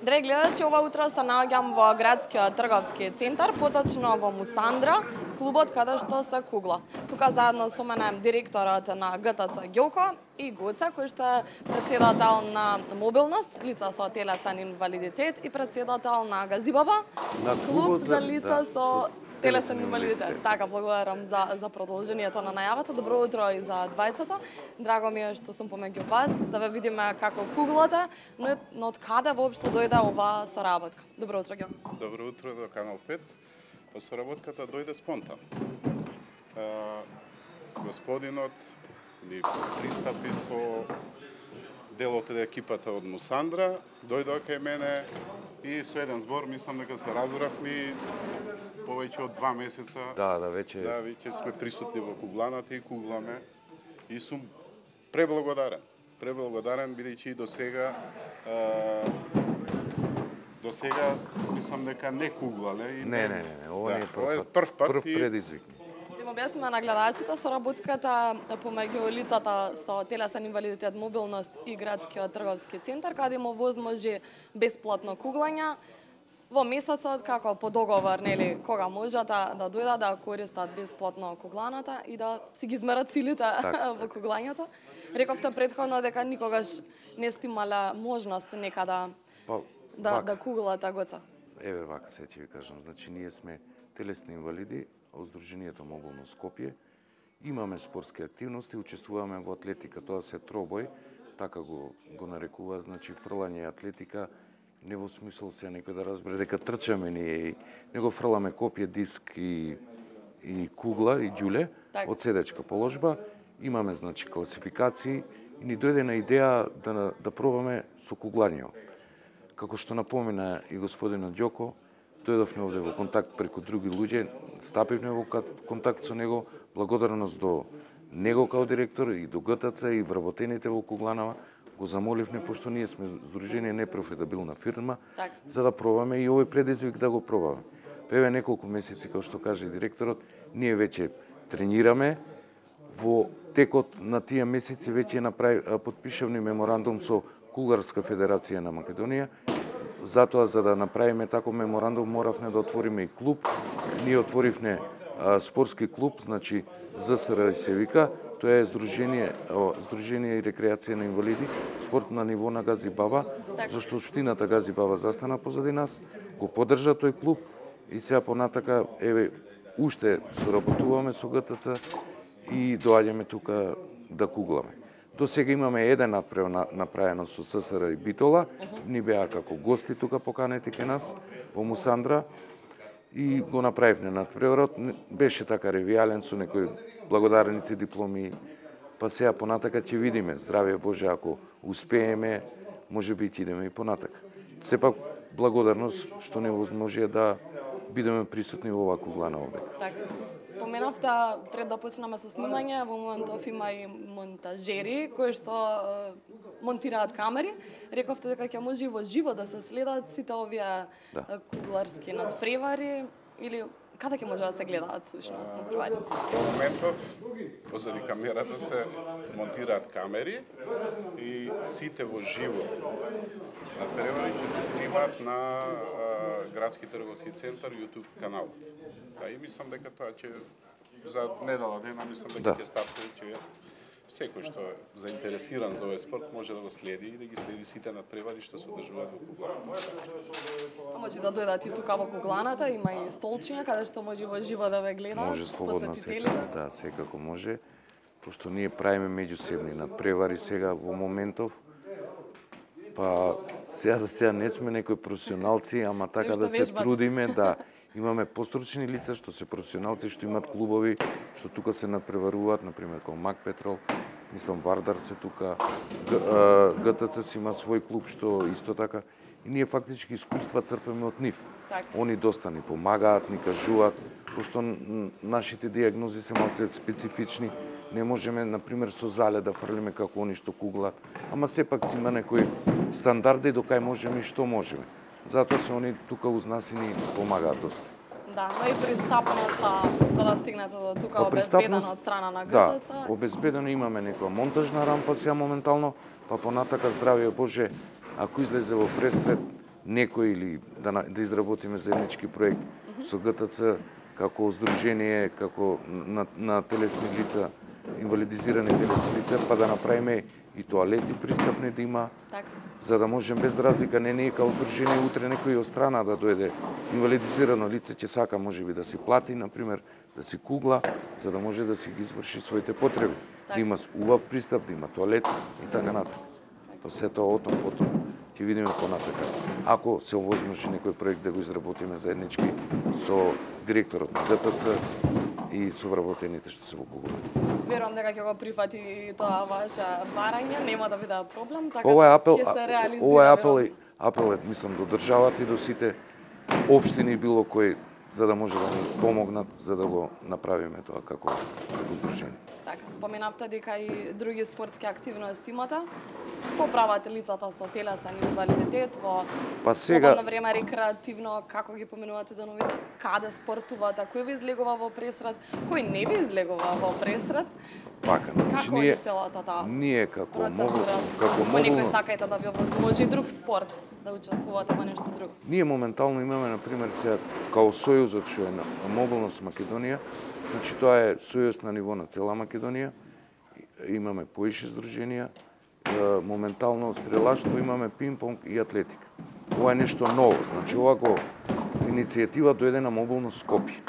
Драги гледачи, ова утро се наоѓам во градскиот трговски центар, поточно во Мусандра, клубот каде што се кугла. Тука заедно со мене директорот на ГТЦ Ѓоко и Гоце, кој што е претседател на мобилност, лица со телесен инвалидитет и претседател на Газибаба, клуб за лица со телесен инвалидитет. Така, благодарам за продолжението на најавата. Добро утро и за двајцата. Драго ми е што сум помеѓу вас, да ве видиме како куглате, но од каде воопшто дојде оваа соработка. Добро утро, Ѓо. Добро утро до Канал 5. Па соработката дојде спонтано. Господинот ни пристапи со дел од екипата од Мусандра, дојде кај мене и со еден збор, мислам дека се разбравме повеќе од 2 месеца. Веќе сме присутни во кугланата и кугламе. И сум преблагодарен. Преблагодарен бидејќи и до сега мислам дека не куглале. Не, ова не е прв пат. Прв предизвик. Да му објасниме на гледачите соработката помеѓу лицата со телесен инвалидитет, мобилност и градскиот трговски центар, каде му возможи бесплатно куглање во месецот, како по договор, нели, кога можат да дојдат да користат бесплатно кугланата и да си ги измерат силите во куглањето. Рековте претходно дека никогаш не сте имале можност некада да куглате, Гоце. Еве вака се ќе ви кажам. Значи, ние сме телесни инвалиди од Сдруженијето Мобилно Скопје. Имаме спортски активности, учествуваме во атлетика, тоа се тробој, така го нарекува, значи фрлање атлетика, не во смисол се некој да разбере дека трчаме ние, него фрламе копје, диск и кугла и ѓуле од седечка положба. Имаме, значи, класификации и ни дојде на идеја да пробаме со куглањето. Како што напомена и господинот Ѓоко, дојдовме овде во контакт преку други луѓе, стапивме во контакт со него, благодарност до него као директор и до ГТЦ и вработените во кугланава, го замоливме, пошто ние сме здружение непрофитабилна фирма, за да пробаме и овој предизвик да го пробаме. Еве неколку месеци, како што каже директорот, ние веќе тренираме, во текот на тие месеци веќе подпишавме меморандум со Кугларска федерација на Македонија. Затоа, за да направиме таков меморандум, моравме да отвориме и клуб. Ние отворивме спортски клуб, значи ЗСР се вика. Тоа е Сдружение и рекреација на инвалиди, спорт на ниво на Газибаба, зашто општината Газибаба застана позади нас, го поддржа тој клуб и сега понатака, еве, уште соработуваме со ГТЦ и доаѓаме тука да кугламе. До сега имаме еден направено со ССР и Битола, ни беа како гости тука поканети кај нас во Мусандра и го направивме надпреварот. Беше така ревијален со некои благодарници, дипломи, па сега понатака ќе видиме. Здравје Боже, ако успееме, може би ќе идеме и понатака. Сепак благодарност што не возможија да бидеме присутни во оваа куглана овде. Споменавте пред да почнеме со снимање, во моментов има и монтажери кои што монтираат камери. Рековте дека ќе може и во живо да се следат сите овие кугларски надпревари или каде ќе може да се гледаат сушност надпревари? Во моментов позади камерата се монтираат камери и сите во живо надпревари ќе се стримаат на Градски трговски центар YouTube каналот. И мислам дека тоа ќе за недела дена мислам дека ќе стартува и ќе секој што е заинтересиран за овој спорт може да го следи и да ги следи сите надпревари што се одржуваат во кугланата. Може да дојдат и тука во кугланата, има и столчиња каде што може во живо да ве гледаат. Може слободно секако може, пошто ние правиме меѓусебни надпревари сега во моментов. Па сега за сега не сме некои професионалци, ама така да се трудиме да имаме постручни лица што се професионалци, што имаат клубови, што тука се надпреваруваат, например како Мак Петрол, мислам Вардар се тука, ГТЦ си има свој клуб што исто така и ние фактички искуства црпиме од нив. Они доста ни помагаат, ни кажуваат, пошто нашите диагнози се малце специфични. Не можеме, например, со зале да фрлиме како они што куглат, ама сепак си има некои стандарди до кај можеме и што можеме. Затоа се они тука уз нас и ни помагаат доста. Да, но и пристапноста за да стигнете до тука обезбедена од страна на ГТЦ. Да, обезбедено имаме некоја монтажна рампа сега моментално, па понатака здравје Боже, ако излезе во престрет, некој или да изработиме заеднички проект со ГТЦ како здружение, како на телесни лица, инвалидизирани телесни лица, па да направиме и тоалети пристапни да има, за да можем без разлика не као здружение утре некој од страна да дојде инвалидизирано лице ќе сака можеби да си плати, например, да си кугла, за да може да си ги изврши своите потреби, да има убав пристап, да има тоалет и така натаму. Па се тоа потом ќе видиме понатака. Ако се овозможи некој проект да го изработиме заеднички со директорот на ГТЦ и со вработените што се во Кугла. Верувам дека ќе го прифати тоа ваше барање, нема да биде проблем, така ќе се реализира. Ова е апелот, мислам, до државата и до сите општини било кој, за да може да ни помогнат за да го направиме тоа како здружение. Така, споменавте дека и други спортски активности имате. Што прават лицата со телесен инвалидитет во слободно време, рекреативно, како ги поминувате деновите? Каде спортувате? Кој ви излегува во пресрет? Кој не ви излегува во пресрет? Така, значи ние како некој сакајте да ви овозможи друг спорт, да учествувате во нешто друго? Ние моментално имаме, например, сега као Сојузот што е на мобилност Македонија, значи тоа е сојуз на ниво на цела Македонија, имаме поише здруженија, моментално стрелаштво имаме пинг-понг и атлетика. Ова е нешто ново, значи ова иницијатива дојде на мобилност Скопје,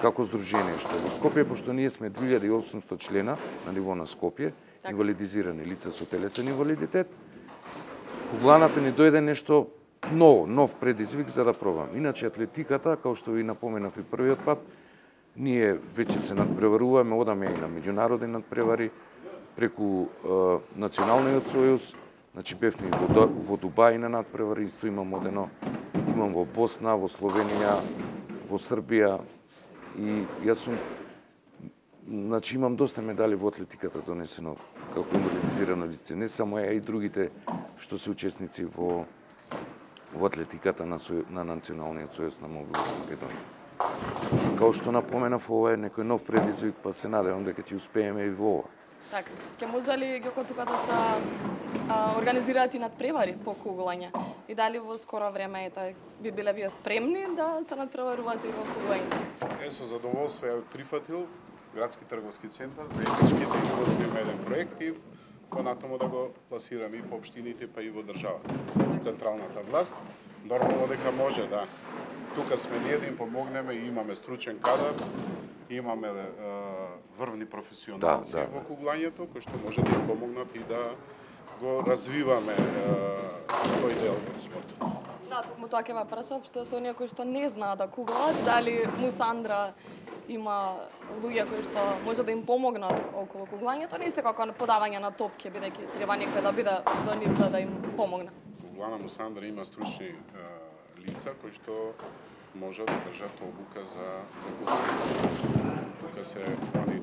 како здружение, што во Скопје, пошто ние сме 2800 члена на ниво на Скопје, инвалидизирани лица со телесен инвалидитет, кугланата ни дојде нешто ново, нов предизвик за да пробам. Иначе атлетиката, као што ви напоменав и првиот пат, ние веќе се надпреваруваме, одаме и на меѓународни надпревари, преку Националниот сојуз, значи бевме и во Дубај на надпревари, исто имам одено, имам во Босна, во Словенија, во Србија и јас сум, значи имам доста медали во атлетиката донесено како инвалидизирано лице, не само ја и другите што се учесници во атлетиката на Националниот сојуз на мобилност Македонија. Као што напоменав, ова е некој нов предизвик, па се надевам дека ќе успееме и во ова. Така, ќе може ли Ѓоко тука да се организираат и надпревари по куглање? И дали во скоро време би биле вие спремни да се надпреварувате и во куглање? Со задоволство ја прифатил Градски трговски центар за заеднички да изготвиме еден проект и понатаму да го пласираме и по општините, па и во државата. Централната власт, нормално дека може да. Тука сме ние да им помогнеме и имаме стручен кадар, имаме врвни професионалци во куглањето, кои што може да им помогнат и да го развиваме тој дел од спортот. Да, токму тоа ќе ве прашав, што се оние кои што не знаат да куглаат, дали Мусандра има луѓе кои што може да им помогнат околу куглањето, не секако подавање на топки, бидејќи треба некој да биде до нив за да им помогне. Куглана Мусандра има стручни лица кои што може да држат обука за куглање. Тука се они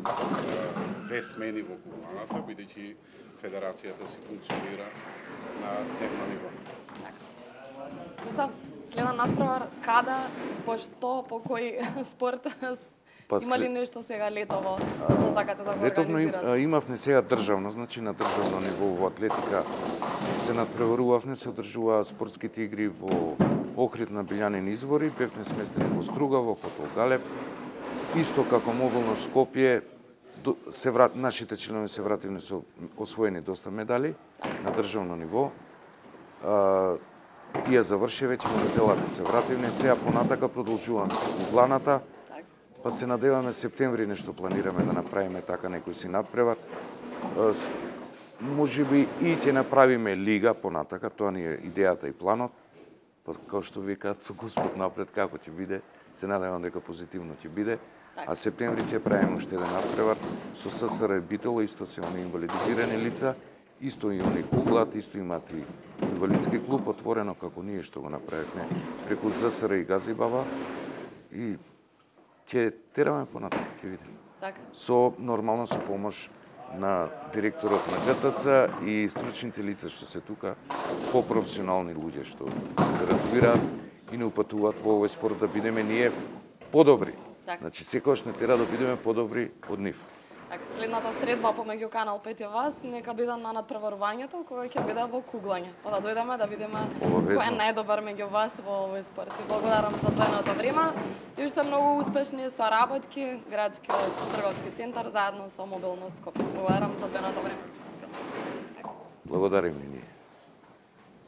две смени во кугланата, бидејќи федерацијата си функционира на дневно ниво. Така. Следен надпревар, каде, по што, по кој спорт? Има ли нешто сега летово што сакате да го организирате? Летовно имавме сега државно, значи на државно ниво во атлетика се надпреварувавме, се одржуваа спортските игри во Охрид на Билјанин извори, бевме сместени во Стругаво, Хотел Галеб. Исто како мобилно Скопје, нашите членови се вративни со освоени доста медали на државно ниво. Тие заврши веќе, моделата се вративни, сега понатака продолжуваме со кугланата, па се надеваме септември нешто планираме да направиме така некој си надпревар. Можеби и ќе направиме лига понатака, тоа ни е идејата и планот. Као што викаат со Господ напред како ќе биде, се надевам дека позитивно ќе биде. А септември ќе правиме уште еден надпревар со ССР Битола, исто се они инвалидизирани лица, исто и они куглат, исто имаат и инвалидски клуб отворено како ние што го направивме преку ЗСР и Газибаба и ќе тераме понатаму, ќе видиме. Нормално со помош на директорот на ГТЦ и стручните лица што се тука, по-професионални луѓе што се разбираат и не упатуваат во овој спорт да бидеме ние подобри. Значи секогаш не тера да бидеме подобри од нив. Следната средба помеѓу Канал 5 и вас нека биде на надпреварувањето кога ќе биде во куглање. Па да дојдеме да видиме кој е најдобар меѓу вас во овој спорт. И благодарам за одвоеното време и уште многу успешни соработки градскиот трговски центар заедно со Мобилност Скопје. Благодарам за одвоеното време. Благодарим и ние.